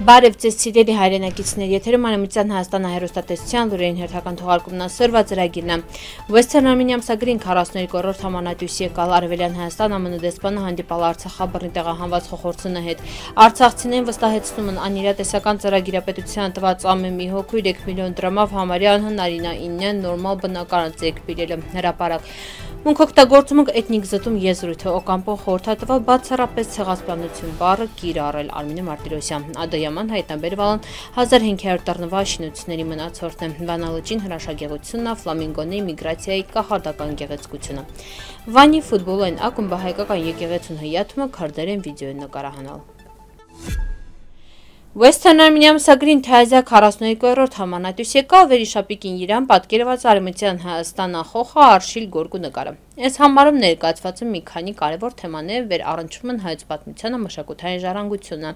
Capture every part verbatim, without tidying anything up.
Բարև ձեզ սիրելի հայրենակիցներ, եթերում Արևմտյան Հայաստանը հեռուստատեսության լուրերին հերթական թողարկումն է սրված ծրագիրն է։ Western Armenia ամսագրին քառասուններկու-րդ համանadույս եկալ Արևելյան Հայաստան ԱՄՆ դեսպանը հանդիպալ Արցախաբռնի տեղահանված Խոխորձունը հետ։ Արցախցիներին վստահեցնում են անիրատեսական ծրագիրապետության տված ամեն մի հոգու երեք միլիոն դրամով համարյա անհնարինային նորմալ բնակարան ձեռք բերել հրապարակ։ Մունքօգտագործումը էթնիկ զտում եզրույթը Օկամպոն խորհրդատվավ բացառապես ցեղասպանություն բառը կիրառել Արմինե Մարտիրոսյան։ Ադոյաման հայտնաբերվալն հազար հինգ հարյուր տառնվա շինությունների մնացորդն է։ Վանալուճին հրաշագեղությունն է, ֆլամինգոների միգրացիայի կախարդական գեղեցկությունը։ Վանի ֆուտբոլային ակումբը հայկական եկեղեցուն հյաթում է քրդերեն վիդեո նկարահանել։ Western Armenia ամսագրին թայազյա քառասուններկու-րդ համանadույս եկալ վերիշապիկին իրան պատկերված Արևմտյան Հայաստան խոխը Արշիլ Գորգու նկարը։ Այս համարում ներկայացված մի քանի կարևոր թեմաներ վեր առնչվում են հայոց պատմությանը, մշակութային ժառանգությունը։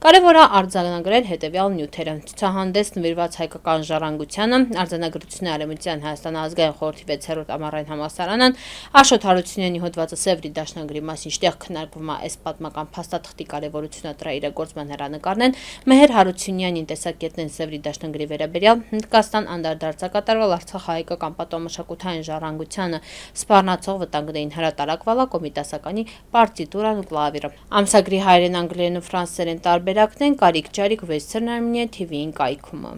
Կարևոր է արձանագրել հետևյալ նյութերը։ Ցուցահանդես նվիրված հայկական ժառանգությանը, արձանագրությունների Արևմտյան Հայաստան ազգային խորհրդի վեցերորդ ամառային համալսարանն, Աշոտ Հարությունյանի հոդվածը Սևրի դաշնագրի մասին, ինչտեղ քննարկվում է այս պատմական փաստաթղթի կարևորությունը դրա իրագործման հեռանկարներն, Մեհեր Հարությունյանի տեսակետն Սևրի դաշնագրի վերաբերյալ Հնդկաստան անդրադարձակատարվել Արցախահայկական պատմամշակութային ժառանգությանը սպառնացող վտանգներին հրատարակվալա կոմիտասականի պարտիտուրան ու կլավիրը։ Ամսագրի հայերեն, անգլերեն ու ֆրանսերեն տարբերակն են կարիք ջարիք Western Armenia T V-ին կայքում։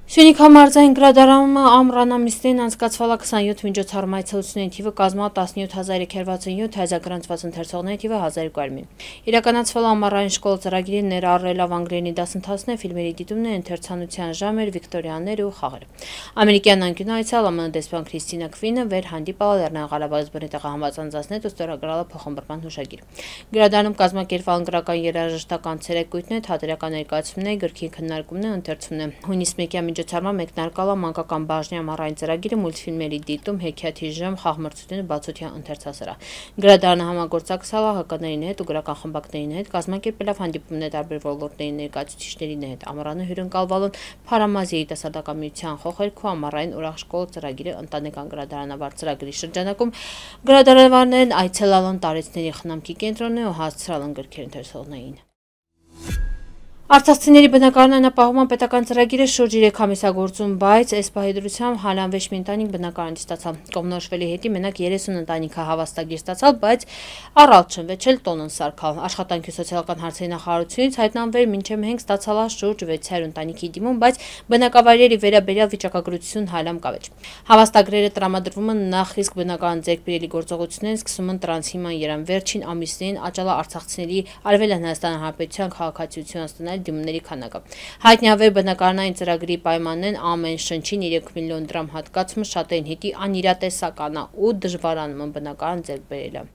Սյունիք համարձային գրադարանում ամռանամիսներին անցկացվալա քսանյոթ միջոցառում այցելությունների թիվը կազմել տասնյոթ հազար երեք հարյուր վաթսունյոթ, հայազգրանցված ընթերցողների թիվը հազար երկու հարյուր մի։ Իրականացվելա ամառային շկոլ ծրագիրի ներառելով անգլերենի դասընթացներ, ֆիլմերի դիտումներ, ընթերցանության ժամեր, վիկտորիաներ ու խաղեր։ Ամերիկյան անկյունը այցելել ԱՄՆ դեսպան Քրիստինա Քվինը վեր հանդիպալ Լեռնային Ղարաբաղից բռնի տեղահանված անձանց ու ստորագրել փոխհմբռնման հուշագիր։ Գրադարանում կազմակերպվել անգլերական երաժշտական ցերեկույթներ, թատերական ներկայացումներ, գրքի քննարկումներ, ընթերցումներ։ Հունիս մեկի միջոցառման մեկնարկալ է մանկական բաժնի ամառային ծրագիրը, մուլտֆիլմերի դիտում, հեքիաթի ժամ, խաղմրցություն, բացօթյա ընթերցասրահ։ Գրադարանը համագործակցել է ՀԿ-ների հետ ու գրական խմբակների հետ, կազմակերպելով հանդիպումներ տարբեր ոլորտների ներկայացուցիչների հետ։ Ամառանը հյուրընկալվալուն Փարամազ երիտասարդական միության խոխերգու ամառային ուրախ ծրագիրը ընտանեկան գրադարանավար ծրագրի շրջանակում գրադարանավարներն այցելալն տարեցների խնամքի կենտրոնն ու հասցրալն գրքեր ընթերցողներին։ Արցախցիների բնակարանն ապահովում պետական ծրագիրը շուրջ երեք ամիսագործում, բայց այս պահի դրությամբ հալանվեշ մի ընտանիք բնակարան ստացալ։ Կողմնորոշվելի հետի մենակ երեսուն ընտանիքը հավաստագիր ստացալ, բայց առալ չնվեճել տոնն սարքալ։ Աշխատանքի ու սոցիալական հարցերի նախարարությունից հայտնաբեր մինչև մենք ստացալ շուրջ վեց հարյուր ընտանիքի դիմում, բայց բնակավայրերի վերաբերյալ վիճակագրություն հալամ կավեճ։ Հավաստագրերը տրամադրվում են նախ իսկ բնակարան ձեռք բերելի գործողություններն սկսում են տրանս հիման երան վերջին ամիսներին աճալա արցախցիների Արևելյան Հայաստան Հանրապետության քաղաքացիություն ստանալ դիմումների քանակը։ Հայտնիավեր բնակարանային ծրագրի պայմաններն ամեն շնչին երեք միլիոն դրամ հատկացումը շատերին հետի անիրատեսական է ու դժվարանում են բնակարան ձեռք բերելը։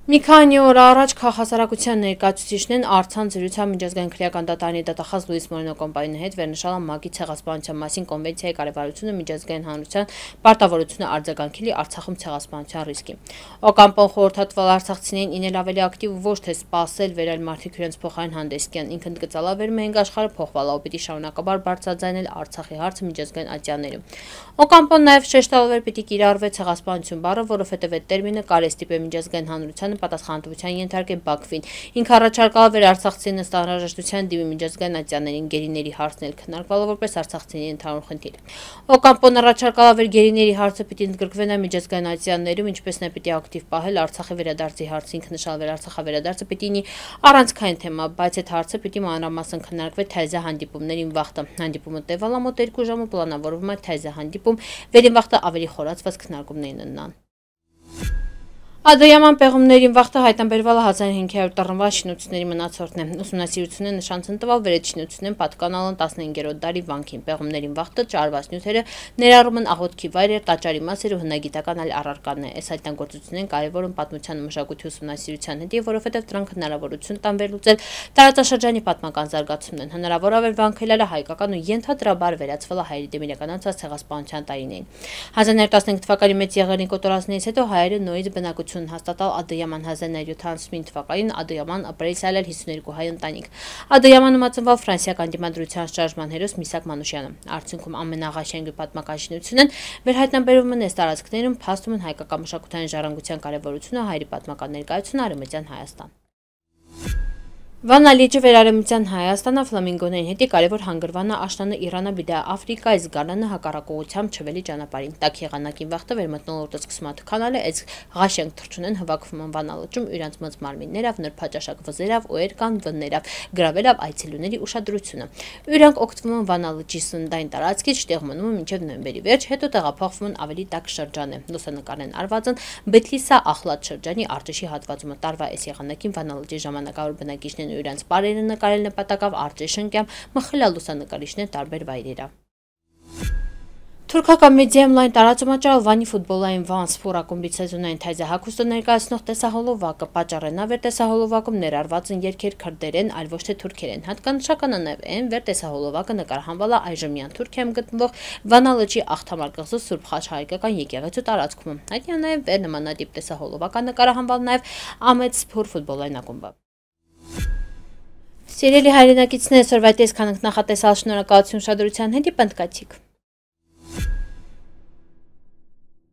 Մի քանի օր առաջ քաղաքասարակության ներկայացուցիչներն Արցան զրույցի միջազգային քրեական դատարանի դատախազ Լուիս Մորենո կոմպանիայի հետ վերնշալ են ՄԱԿ-ի ցեղասպանության մասին կոնվենցիայի կարևորությունը, միջազգային հանրության պարտավորությունը արձագանքելի Արցախում ցեղասպանության ռիսկի։ Օկամպոն խորհրդատվալ արցախցիներին ինել ավելի ակտիվ ոչ թե սպասել վերել մարդիկ իրենց փոխարեն հանդես գան, ինքն գծալավեր մենք աշխարհը փոխվալա ու պիտի շարունակաբար բարձրաձայնել Արցախի հարցը միջազգային ատյաններում։ Օկամպոն նաև շեշտալվեր պիտի կիրառվի ցեղասպանություն բառը, որովհետև այդ տերմինը կարեստիպ է միջազգային հանրության պատասխանատվության ենթարկել Բաքվին։ Ինքը առաջարկալ վեր արցախցիներին ըստ անհրաժեշտության դիմի միջազգային ատյաններին գերիների հարցն էլ քննարկվալը որպես արցախցիների ընդհանուր խնդիր։ Օկամպոն առաջարկալ վեր գերիների հարցը պիտի ընդգրկվի միջազգային ատյաններում, ինչպես նաև պիտի ակտիվ պահել Արցախի վերադարձի հարցը, ինքը նշալ վեր Արցախավերադարձը պիտի լինի առանցքային թեմա, բայց այդ հարցը պիտի մանրամասն քննարկվի թայզա հանդիպումներին վաղտը։ Հանդիպումը տևալա մոտ երկու ժամ ու պլանավորվում է թայզա հանդիպում վերին վաղտը ավելի խորացված քննարկումներին ունենան։ Ադոյաման պեղումներին վաղտը հայտնաբերվել հազար հինգ հարյուր տառնվա շինությունների մնացորդն է։ Ուսումնասիրությունները նշանցն տվալ վեր այդ շինություններն պատկանալն տասնհինգերորդ դարի վանքին։ Պեղումներին վաղտը ճարված նյութերը ներառում են աղոթքի վայրեր, տաճարի մասեր ու հնագիտական այլ առարկաներ։ Այս հայտնագործություններն կարևոր են պատմության ու մշակույթի ուսումնասիրության հետ, որովհետև դրանք հնարավորություն տան վերլուծել տարածաշրջանի պատմական զարգացումն են։ Հնարավոր է վանքելը հայկական ու ենթադրաբար վերածվել հայերի դեմ իրականացած ցեղասպանության տարիներին։ հազար նոյ տասնհինգ թվականի մեծ եղերնի կոտորածներից հետո հայերը նորից բնակություն հաստատալ Ադոյաման հազար նոյ յոթանասունհինգ թվականին Ադոյաման ապրել սայլել հիսունհերկու հայ ընտանիք։ Ադոյամանում մածնվել ֆրանսիական դիմադրության շարժման հերոս Միսակ Մանուշյանը։ Արդյունքում ամենաղաշենգի պատմական շինությունն վերհայտնաբերվում են այս տարածքներում, փաստում են հայկական մշակութային ժառանգության կարևորությունը, հայերի պատմական ներկայությունը Արևմտյան Հայաստան։ Վանա լիճը վերարեմության Հայաստանը ֆլամինգոներին հետի կարևոր հանգրվանը աշնանը Իրանը բիդա Աֆրիկայից գալանը հակառակողությամբ չվելի ճանապարհին։ Տակ եղանակին վաղտը վերմտնոլորտը սկսում աթքանալը այս ղաշենք թրջունեն հվակվում են Վանա լճում իրանց մած մարմիններով նրբաճաշակ վզերով օեր կան վններով գրավելով այցելուների ուշադրությունը։ Իրանք օգտվում են Վանա լճի սննդային տարածքից, տեղում մնում են մինչև նոյեմբերի վերջ, հետո տեղափոխվում են ավելի տաք շրջան է։ Լուսանկարներն արված են Բեթլիսա Ախլատ շրջանի Արտեշի հատվածում տարվա այս եղանակին Վանա լճի ժամանակավոր բնակիչներն ու իրանց բարերը նկարել նպատակով Արտեշնկյամ մխլյալ լուսանկարիչներ տարբեր վայրերով։ Թուրքական մեդիայում լայն տարածումաճարել Վանի ֆուտբոլային Վան Սփոր ակումբի սեզոնային թայզահագուստը ներկայացնող տեսահոլովակը պատճառն է, վեր տեսահոլովակում ներառված են երգեր քրդերեն, այլ ոչ թե թուրքերեն։ Հատկանշական է նաև այն, վեր տեսահոլովակը նկարահանվել է այժմյան Թուրքիայում գտնվող Վանա լճի Աղթամար կղզու Սուրբ Խաչ հայկական եկեղեցու տարածքում։ Հայտնի է նաև վեր նմանատիպ տեսահոլովակը նկարահանվել նաև Ամեդ Սփոր ֆուտբոլային ակումբը։ Սիրելի հայրենակիցներ, այսօրվա այս քանակ նախատեսալ շնորհակալություն ուշադրության հետ, պնդկացիք։